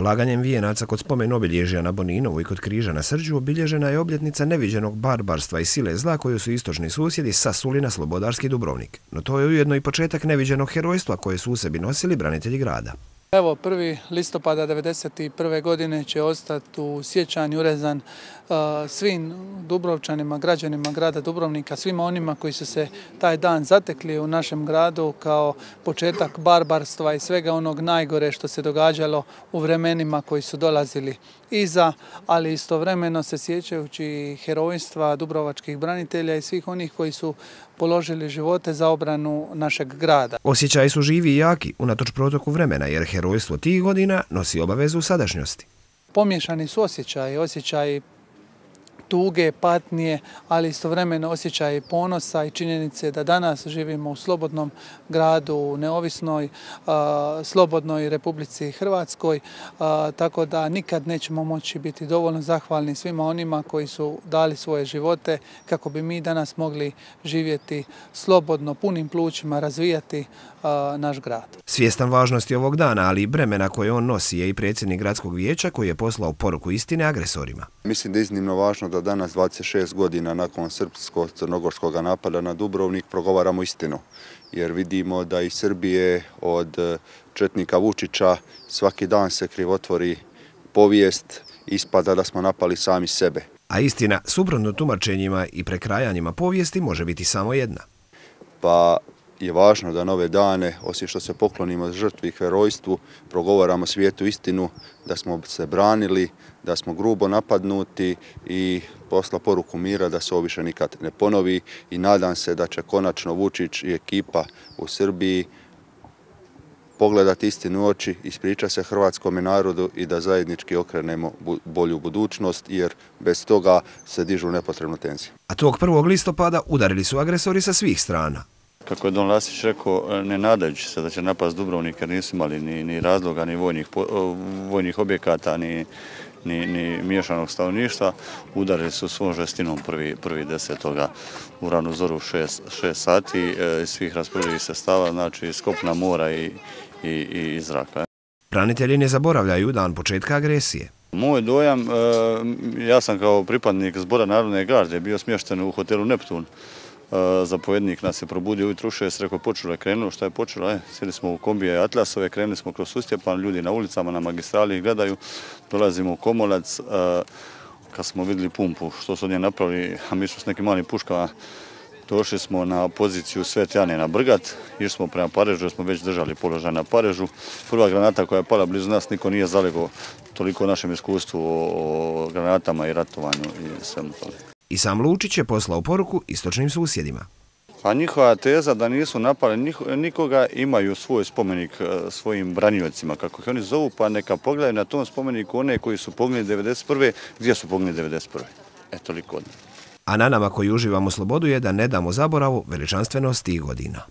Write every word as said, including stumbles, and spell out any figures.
Polaganjem vijenaca kod spomen obilježja na Boninovu i kod križa na Srđu obilježena je obljetnica neviđenog barbarstva i sile zla koju su istočni susjedi sasuli na slobodarski Dubrovnik. No to je ujedno i početak neviđenog herojstva koje su u sebi nosili branitelji grada. Evo, prvi listopada devedeset prve godine će ostati u sjećanju urezan uh, svim Dubrovčanima, građanima grada Dubrovnika, svima onima koji su se taj dan zatekli u našem gradu kao početak barbarstva i svega onog najgore što se događalo u vremenima koji su dolazili iza, ali istovremeno se sjećajući herojstva dubrovačkih branitelja i svih onih koji su položili živote za obranu našeg grada. Osjećaji su živi i jaki, unatoč protoku vremena, jer herojstvo tih godina nosi obavezu u sadašnjosti. Pomiješani su osjećaji, osjećaji tuge, patnje, ali istovremeno osjećaji ponosa i činjenice da danas živimo u slobodnom gradu, u neovisnoj, a, slobodnoj Republici Hrvatskoj, a, tako da nikad nećemo moći biti dovoljno zahvalni svima onima koji su dali svoje živote kako bi mi danas mogli živjeti slobodno, punim plućima, razvijati a, naš grad. Svjestan važnosti ovog dana, ali i bremena koje on nosi, je i predsjednik gradskog vijeća koji je poslao poruku istine agresorima. Mislim da je iznimno važno da danas, dvadeset šest godina nakon srpsko-crnogorskog napada na Dubrovnik, progovaramo istinu. Jer vidimo da iz Srbije od četnika Vučića svaki dan se krivotvori povijest, ispada da smo napali sami sebe. A istina, suprotno tumačenjima i prekrajanjima povijesti, može biti samo jedna. Pa je važno da na ove dane, osim što se poklonimo žrtvi i herojstvu, progovaramo svijetu istinu, da smo se branili, da smo grubo napadnuti i posla poruku mira da se ovo više nikad ne ponovi i nadam se da će konačno Vučić i ekipa u Srbiji pogledati istinu u oči, ispričati se hrvatskome narodu i da zajednički okrenemo bolju budućnost, jer bez toga se dižu nepotrebnu tenziju. A tog prvog listopada udarili su agresori sa svih strana. Kako je Don Lasić rekao, ne nadajući se da će napast Dubrovnik jer nisu imali ni, ni razloga, ni vojnih, vojnih objekata, ni, ni, ni miješanog stanovništva, udarili su svom žestinom prvi, prvi desetoga u ranu zoru šest, šest sati iz svih rasporedivih sredstava, znači iz kopna, mora i, i, i iz zraka. Branitelji ne zaboravljaju dan početka agresije. Moj dojam, ja sam kao pripadnik Zbora Narodne garde bio smješten u hotelu Neptun. Zapovjednik nas je probudio ujutru u šest, rekao počelo je, krenulo, šta je počelo? E, sjeli smo u kombije Atlasove, krenuli smo kroz Sustjepan, ljudi na ulicama, na magistrali gledaju, dolazimo u Komolac, kad smo vidjeli pumpu, što su od nje napravili, a mi smo s nekim malim puškama, došli smo na poziciju Svete Ane na Brgat, išli smo prema Parežu, jer smo već držali položaj na Parežu. Prva granata koja je pala blizu nas, niko nije zalegao toliko o našem iskustvu o granatama i ratovanju i svemu tome. I sam Lučić je poslao poruku istočnim susjedima. A njihova teza da nisu napali nikoga, imaju svoj spomenik svojim branjivcima, kako ih oni zovu, pa neka pogledaju na tom spomeniku one koji su poginuli devedeset prve gdje su poginuli devedeset prve E, toliko od njih. A na nama koji uživamo slobodu je da ne damo zaboravu veličanstvenost tih godina.